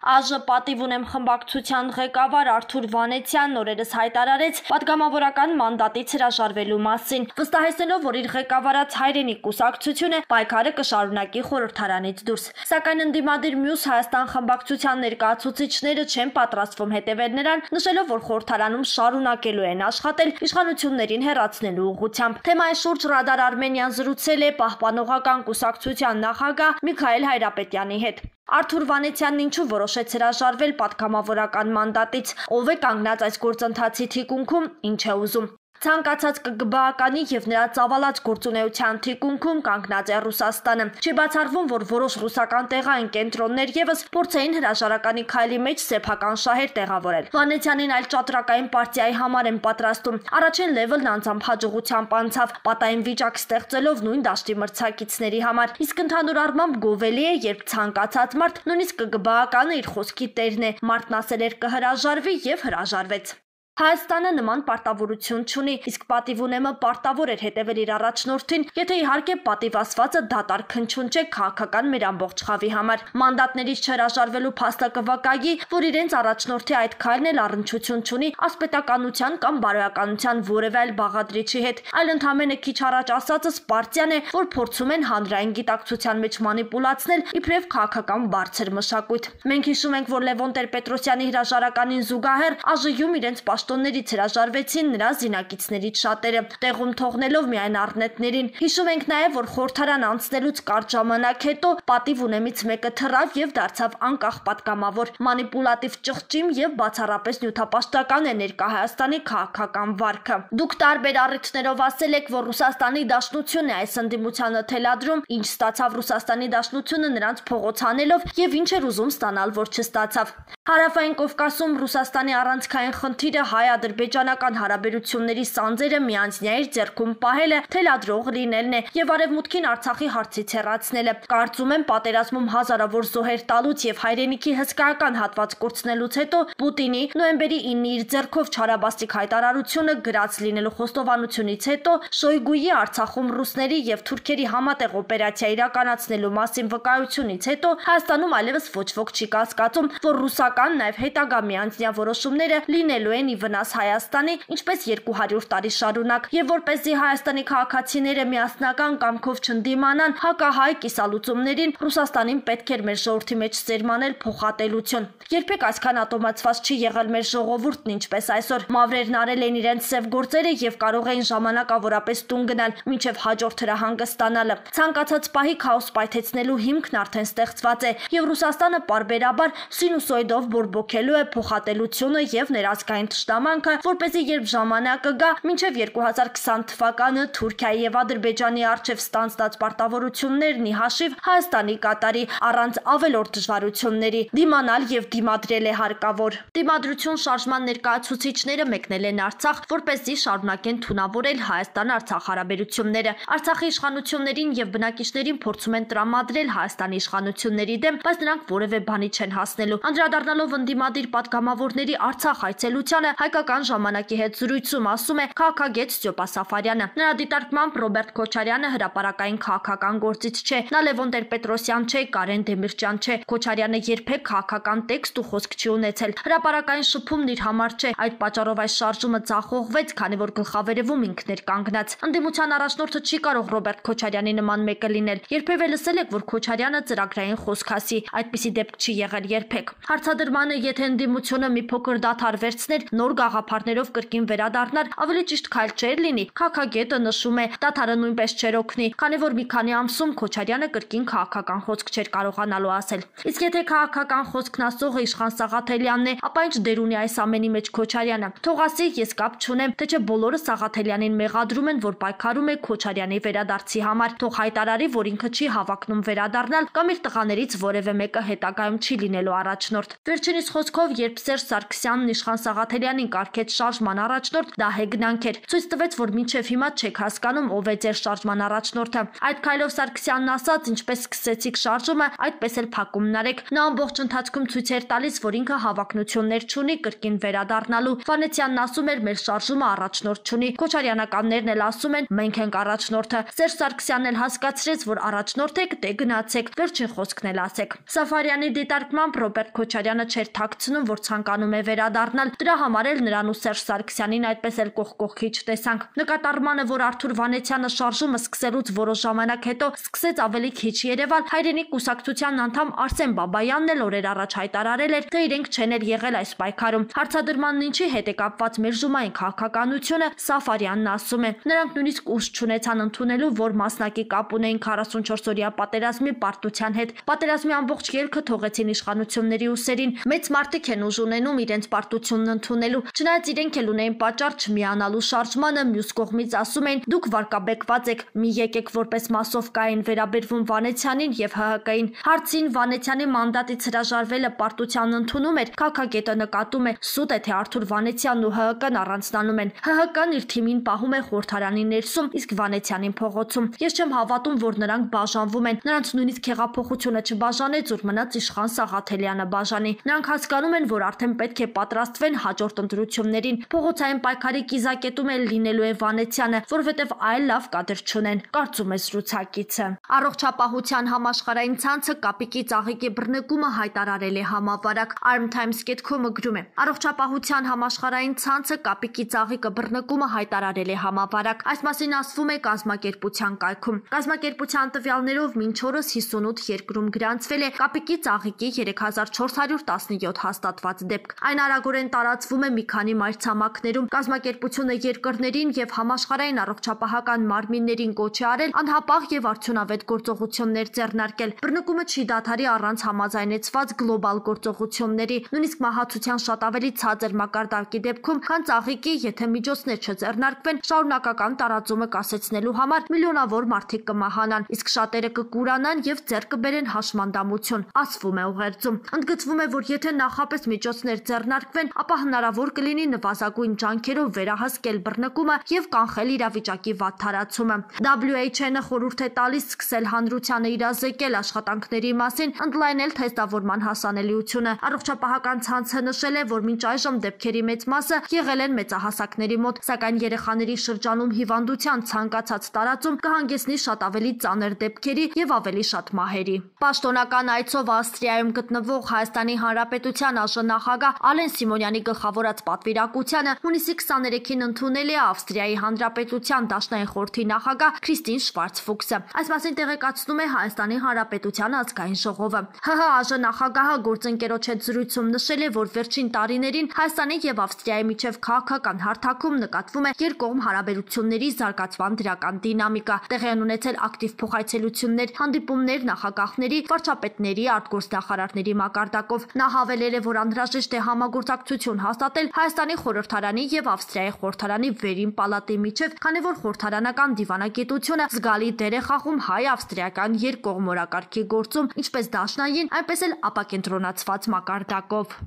ԱԺ պատիվ ունեմ խմբակցության ղեկավար Արթուր Վանեցյանն օրերս հայտարարեց պատգամավորական մանդատից հրաժարվելու մասին, վստահեցնելով, որ իր ղեկավարած Հայրենիք կուսակցությունը պայքարը կշարունակի խորհրդարանից դուրս։ Սակայն ընդդիմադիր մյուս Հայաստան խմբակցության ներկայացուցիչները չեն պատրաստվում հետևել նրան, նշելով, որ խորհրդարանում շարունակելու են աշխատել իշխանություններին հեռացնելու ուղղությամբ։ Թեմայի շուրջ Ռադար Արմենիան զրուցել է Պահպանողական կուսակցության նախագահ Միքայել Հայրապետյանի հետ։ Արթուր Վանեցյանն ինչու որոշեց հրաժարվել պատգամավորական մանդատից, ով է կանգնած այս գործընթացի թիկունքում, ինչ է ուզում։ Ցանկացած ԿԳԲ-ականի եւ նրա ծավալած գործունեության թիկունքում կանգնած է Ռուսաստանը։ Չի բացառվում, որ որոշ ռուսական տեղային կենտրոններ եւս փորձեին հրաժարականի քայլի մեջ սեփական շահեր տեղավորել։ Վանեցյանին այլ ճատրակային պարտիայի համար են պատրաստում։ Առաջին լեվելն անձամբ հաջողությամբ անցավ, պատային վիճակ ստեղծելով նույն դաշտի մրցակիցների համար։ Իսկ ընդհանուր առմամբ գովելի է, երբ ցանկացած մարդ, նույնիսկ ԿԳԲ-ականը իր խոսքի տերն է, մարդն ասել էր կհրաժարվի եւ հրաժարվեց։ Հայաստանը նման պարտավորություն չունի, իսկ պատիվ ունեմը պարտավոր էր հետևել իր առաջնորդին, եթե իհարկե պատիվ ասվածը դատարկ հնչյուն չէ քաղաքական մեր ամբողջ խավի համար։ Մանդատներից չհրաժարվելու փաստը կվկայի, որ իրենց առաջնորդի այդ քայլն էլ առնչություն չունի ասպետականության կամ բարոյականության որևէ այլ բաղադրիչի հետ, այլ ընդամենը քիչ առաջ ասածս պարտիան է, որ փորձում են հանրային գիտակցության մեջ մանիպուլացնել իբրև քաղաքական բարձր մշակույթ։ Մենք հիշում ենք, որ Լևոն Տեր-Պետրոսյանի հրաժարականին զուգահեռ ԱԺ-ում իրենց պաշտոններից հրաժարվեցին նրա զինակիցներից շատերը, տեղում թողնելով միայն առնետներին։ Հիշում ենք նաև, որ խորհրդարան անցնելուց կարճ ժամանակ հետո պատիվ ունեմից մեկը թռավ եւ դարձավ անկախ պատգամավոր, մանիպուլատիվ ճղճիմ եւ բացառապես նյութապաշտական է ներկա Հայաստանի քաղաքական վարքը։ Դուք տարբեր առիթներով ասել եք, որ Ռուսաստանի Դաշնությունն է այս ընդդիմությանը թելադրում, ինչ ստացավ Ռուսաստանի Դաշնությունը նրանց փողոցանելով եւ ինչ էր ուզում ստանալ, որ չստացավ։ Հարավային Կովկասում Ռուսաստանի առանցքային խնդիրը հայ-ադրբեջանական հարաբերությունների սանձերը միանձնյա իր ձեռքում պահելը, թելադրող լինելն է եւ արևմուտքին Արցախի հարցից հեռացնելը։ Կարծում եմ պատերազմում հազարավոր զոհեր տալուց եւ հայրենիքի հսկայական հատված կորցնելուց հետո Պուտինի նոյեմբերի 9-ի իր ձեռքով չարաբաստիկ հայտարարությունը գրած լինելու խոստովանությունից հետո Շոյգուի Արցախում ռուսների եւ թուրքերի համատեղ օպերացիա իրականացնելու մասին վկայությունից հետո Հայաստանում այլևս ոչ ոք չի կասկածում, որ ռուսական նաեւ հետագա միանձնյա որոշումները լինելու են ի վնաս Հայաստանի, ինչպես 200 տարի շարունակ, եւ որպեսզի Հայաստանի քաղաքացիները միասնական կամքով չընդդիմանան հակահայ կիսալուծումներին, Ռուսաստանին պետք էր մեր ժողովրդի մեջ սերմանել փոխատելություն։ Երբեք այսքան ատոմացված չի եղել մեր ժողովուրդն, ինչպես այսօր։ Մավրերն արել են իրենց սև գործերը եւ կարող էին ժամանակավորապես տուն գնալ, մինչեւ հաջորդ հրահանգը ստանալը։ Ցանկացած պահի քաոս պայթեցնելու հիմքն արդեն ստեղծված է, եւ Ռուսաստանը պարբերաբար սինուսոիդով բորբոքելու է փոխատելությունը եւ ներազգային թշնամանքը, որպեսզի երբ ժամանակը գա, մինչև 2020 թվականը Թուրքիայի եւ Ադրբեջանի առջև ստանձնած պարտավորություններն ի հաշիվ Հայաստանի կատարի առանց ավելորդ դժվարությունների, դիմանալ եւ դիմադրել է հարկավոր։ Դիմադրություն շարժման ներկայացուցիչները մեկնել են Արցախ, որպեսզի շարունակեն թունավորել Հայաստան-Արցախ հարաբերությունները։ Արցախի իշխանություններին եւ բնակիչներին փորձում են տրամադրել Հայաստանի իշխանությունների դեմ, բայց նրանք որևէ բանի չեն հասնելու։ Անդրադառնալով ընդդիմադիր պատգամավորների Արցախ այցելությանը հայկական ժամանակի հետ զրույցում ասում է քաղաքագետ Ստյոպա Սաֆարյանը։ Նրա դիտարկմամբ Ռոբերտ Քոչարյանը հրապարակային քաղաքական գործիչ չէ։ Նա Լևոն Տեր-Պետրոսյան չէ, Կարեն Դեմիրճյան չէ։ Քոչարյանը երբեք քաղաքական տեքստ ու խոսք չի ունեցել։ Հրապարակային շփումն իր համար չէ։ Այդ պատճառով այս շարժումը ձախողվեց, քանի որ գլխավերևում ինքն էր կանգնած։ Ընդդիմության առաջնորդը չի կարող Ռոբերտ Քոչարյանի նման մեկը լինել։ Երբևէ լսել եք, որ Քոչարյանը ծրագրային խոսք ասի։ Այդպիսի դեպք չի եղել երբեք։ Հարցադրմանը, եթե ընդդիմությունը մի փոքր դադար վերցներ, նոր գաղափարներով կրկին վերադառնար, ավելի ճիշտ քայլ չէր լինի։ Քաղաքագետը նշում է, դադարը նույնպես չէր օգնի, քանի որ մի քանի ամսում Քոչարյանը կրկին քաղաքական խոսք չէր կարողանալու ասել։ Իսկ եթե քաղաքական խոսքն ասողը Իշխան Սաղաթելյանն է, ապա ինչ դեր ունի այս ամենի մեջ Քոչարյանը։ Թող ասի, ես կապ չունեմ, թե չէ բոլորը Սաղաթելյանին մեղադրում են, որ պայքարում է Քոչարյանի վերադարձի համար։ Թող հայտարարի, որ ինքը չի հավակնում վերադառնալ կամ իր տղաներից որևէ մեկը հետագայում չի լինելու առաջնորդ։ Վերջինիս խոսքով, երբ Սերժ Սարգսյանն Իշխան Սաղաթելյանի Սաֆարյանին կարգեց շարժման առաջնորդ, դա հեգնանք էր։ Ցույց տվեց, որ մինչև հիմա չեք հասկանում ով է ձեր շարժման առաջնորդը։ Այդ քայլով Սարգսյանն ասաց, ինչպես սկսեցիք շարժումը, այդպես էլ փակումն արեք։ Նա ամբողջ ընթացքում ցույց էր տալիս, որ ինքը հավակնություններ չունի կրկին վերադառնալու։ Վանեցյանն ասում էր, մեր շարժումը առաջնորդ չունի։ Քոչարյանականներն էլ ասում են, մենք ենք առաջնորդը։ Սերժ Սարգսյանն էլ հասկացրեց, որ առաջնորդ եք, դե գնացեք, վերջին խոսքն էլ ասեք։ Սաֆարյանի դիտարկմամբ Ռոբերտ Քոչարյանը չէր թաքցնում, որ ցանկանում է վերադառնալ։ Դրա համար էլ նրան ու Սերժ Սարգսյանին այդպես էլ կողքի չտեսանք։ Նկատառմանը, որ Արթուր Վանեցյանը շարժումը սկսելուց որոշ ժամանակ հետո սկսեց ավելի քիչ երևալ, հայրենիք կուսակցության անդամ Արսեն Բաբայանն էլ օրեր առաջ հայտարարել էր, թե իրենք չեն էլ եղել այս պայքարում։ Հարցադրմանն ինչի հետ է կապված մերժումային քաղաքականությունը, Սաֆարյանն ասում է։ Նրանք նույնիսկ ուժ չունեցան ընդունելու, որ մասնակի կապ ունեին 44-օրյա պատերազմի պարտության հետ։ Պատերազմի ամբողջ ելքը թողեցին իշխանությունների ուսերին։ Մեծ մարդիկ են ուժ ունենում իրենց պարտությունն ընդունելու։ Չնայած իրենք էլ ունեին պատճառ չմիանալու շարժմանը, մյուս կողմից ասում էին՝ դուք վարկաբեկված եք, մի եկեք որպես մասովկային վերաբերվում Վանեցյանին եւ ՀՀԿ-ին։ Հարցին Վանեցյանի մանդատից հրաժարվելը պարտության ընդունում էր, քաղաքագետը նկատում է՝ սուտ է, թե Արթուր Վանեցյանն ու ՀՀԿ-ն առանձնանում են։ ՀՀԿ-ն իր թիմին պահում է Խորհրդարանի ներսում, իսկ Վանեցյանին փողոցում։ Ես չեմ հավատում, որ նրանք բաժանվում են։ Նրանց նույնիսկ հեղափոխությունը չբաժանեց, ուր մնաց իշխան Սաղաթելյանը բաժանի։ Նրանք հասկանում են, որ արդեն պետք է պատրաստվեն հաջորդ ընտրություններին։ Փողոցային պայքարի կիզակետում էլ լինելու է Վանեցյանը, որովհետև այլ լավ կադր չունեն, կարծում է զրուցակիցը։ Առողջապահության համաշխարհային ցանցը կապիկի ծաղիկի բռնկումը հայտարարել է համավարակ։ Arm Times.com-ը գրում է. Առողջապահության համաշխարհային ցանցը կապիկի ծաղիկը բռնկումը հայտարարել է համավարակ։ Այս մասին ասվում է կազմակերպության կայքում։ Կազմակերպության տվյալներով մինչ օրս 58 երկրում գրանցվել է կապիկի ծաղիկի 3417 հաստատված դեպք։ Այն արագորեն տարածվում է մի քանի մայրցամաքներում։ Կազմակերպությունը երկրներին եւ համաշխարհային առողջապահական մարմիններին կոչ է արել անհապաղ եւ արդյունավետ գործողություններ ձեռնարկել։ Բռնկումը չի դադարի առանց համաձայնեցված գլոբալ գործողությունների, նույնիսկ մահացության շատ ավելի ցածր մակարդակի դեպքում, քան ծաղիկի, եթե միջոցներ չձեռնարկվեն, շարունակական տարածումը կասեցնելու համար միլիոնավոր մարդիկ կմահանան, իսկ շատերը կկուրանան եւ ձեռք կբերեն հաշմանդամություն, ասվում է ուղերձում։ Ընդգծվում է, որ եթե նախապես միջոցներ ձեռնարկվեն, ապա հնարավոր կլինի նվազագույն ջանքերով վերահսկել բռնկումը եւ կանխել իրավիճակի վատ թարացումը։ WHO-ն խորհուրդ է տալիս սկսել հանրությանը իրազեկել աշխատանքների մասին, ընդլայնել թեստավորման հասանելիությունը։ Առողջապահական ցանցը նշել է, որ մինչ այժմ դեպքերի մեծ մասը եղել են մեծահասակների մոտ, սակայն երեխաների շրջանում հիվանդության ցանկացած տարածում կհանգեցնի շատ ավելի ծանր դեպքերի եւ ավելի շատ մահերի։ Պաշտոնական այցով Ավստրիայում գտնվող Հայաստանի Հանրապետության ԱԺ-նախագահ Ալեն Սիմոնյանի գլխավորած պատվիրակությանը հունիսի 23-ին ընդունել է Ավստրիայի Հանրապետության Դաշնային խորհրդի նախագահ Քրիստին Շվարց-Ֆուքսը։ Այս մասին տեղեկացնում է Հայաստանի Հանրապետության ազգային ժողովը։ ՀՀ ԱԺ-նախագահը գործընկերոջ հետ զրույցում նշել է, որ վերջին տարիներին Հայաստանի եւ Ավստրիայի միջև քաղաքական հարթակում նկատվում է երկկողմ հարաբերությունների զարգացման դրական դինամիկա։ Տեղի են ունեցել ակտիվ փոխայցելություններ, հանդիպումներ նախագահների, վարչապետների, արտգործնախարարների մակարդակով։ Նա հավելել է, որ անհրաժեշտ է համագործակցություն հաստատել Հայաստանի խորհրդարանի եւ Ավստրիայի խորհրդարանի վերին պալատի միջև, քանի որ խորհրդարանական դիվանագիտությունը զգալի դեր է խաղում հայ-ավստրիական երկկողմ օրակարգի գործում, ինչպես դաշնային, այնպես էլ ապակենտրոնացված մակարդակով։